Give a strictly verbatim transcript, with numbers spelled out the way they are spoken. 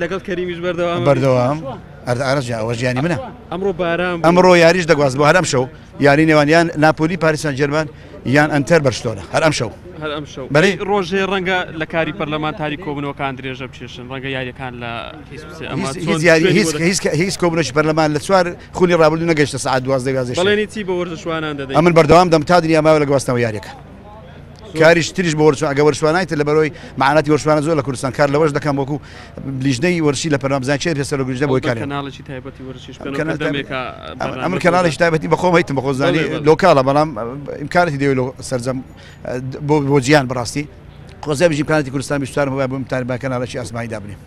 لەگەڵ کەریمیش بەردەوام بەردەوام ئەرز ئەوە ژیانی منە. ئەمڕۆ باران ئەمڕۆ یاریش دەگواز بۆ هەر ئەم شەو یاری نێوان یان ناپۆلی پاریس سان جێرمان یان ئەنتەر بەرشلۆنە هەر ئەم شەو هەر ئەم شەو ڕۆژێ ڕەنگە لە کاری پەرلەمانتاری کۆبوونەوەکان درێژە بکێشن، ڕەنگە یاریەکان لە هیچ کۆبوونەوەی پەرلەمان لە چوار خولی ڕابردوو نەگەیشتە سەعات دوازدە یازدە. بەڵێنی چی بۆ وەرزشوانان دەدەیت؟ ئەمن بەردەوام دەم تا دنیا ماوە لە گواستنەوە یاریەکان. کاریش تریش بۆ وەرزشوان ئەگە وەرزشوانایتر لە بەرەوەی مەعاناتی وەرزشوانە زۆر لە کوردستان کار لەوەش دەکەم وەکو لیژنەی وەرزشی لە پەرلەمان بزانین چێ پێسەر لیژنە بۆی کارێ. کەناڵێکی تایبەتی وەرزشیش ئەمن کەناڵێکی تایبەتی بەخۆم هەیتم بەخۆ زانی لۆکاڵە، بەڵام ئیمکانەتی دەوێت لۆ سەرجەم بۆ جیهان بەڕاستی خۆزیان بژی ئیمکانەتی کوردستان بیستوارم هەبووە بۆ بە کەناڵێکی ئاسمانی دابنێم.